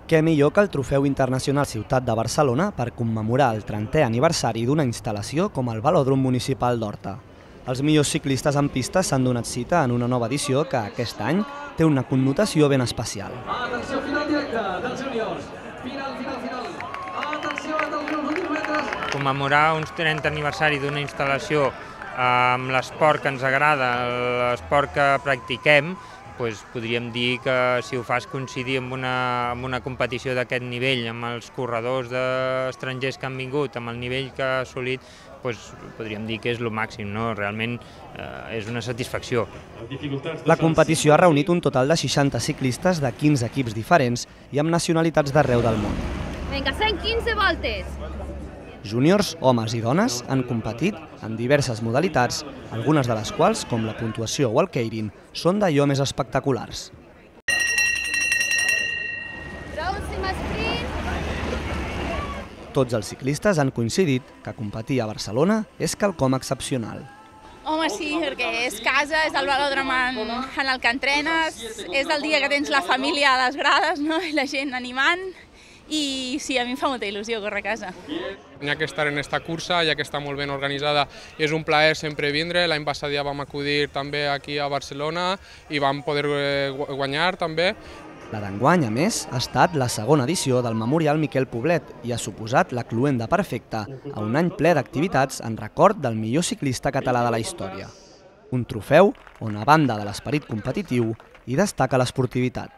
Què millor que el Trofeu Internacional Ciutat de Barcelona per commemorar el 30è aniversari d'una instal·lació com el Velòdrom Municipal d'Horta. Els millors ciclistes en pista s'han donat cita en una nova edició que, aquest any, té una connotació ben especial. Atenció, final directe dels júniors. Final. Atenció, dels últims metres. Commemorar un 30è aniversari d'una instal·lació amb l'esport que ens agrada, l'esport que practiquem, podríem dir que si ho fas coincidir amb una competició d'aquest nivell, amb els corredors estrangers que han vingut, amb el nivell que ha assolit, podríem dir que és el màxim, no? Realment és una satisfacció. La competició ha reunit un total de 60 ciclistes de 15 equips diferents i amb nacionalitats d'arreu del món. Vinga, 115 voltes! Júniors, homes i dones, han competit en diverses modalitats, algunes de les quals, com la puntuació o el keirin, són d'allò més espectaculars. Pròxim sprint! Tots els ciclistes han coincidit que competir a Barcelona és quelcom excepcional. Home, sí, perquè és casa, és el velòdrom en el que entrenes, és el dia que tens la família a les grades, no? I la gent animant. I sí, a mi em fa molta il·lusió córrer a casa. N'hi ha que estar en esta cursa, ja que està molt ben organitzada, és un plaer sempre vindre. L'any passat ja vam acudir també aquí a Barcelona i vam poder guanyar també. La d'enguany, a més, ha estat la segona edició del Memorial Miquel Poblet i ha suposat la cloenda perfecta a un any ple d'activitats en record del millor ciclista català de la història. Un trofeu on, a banda de l'esperit competitiu, hi destaca l'esportivitat.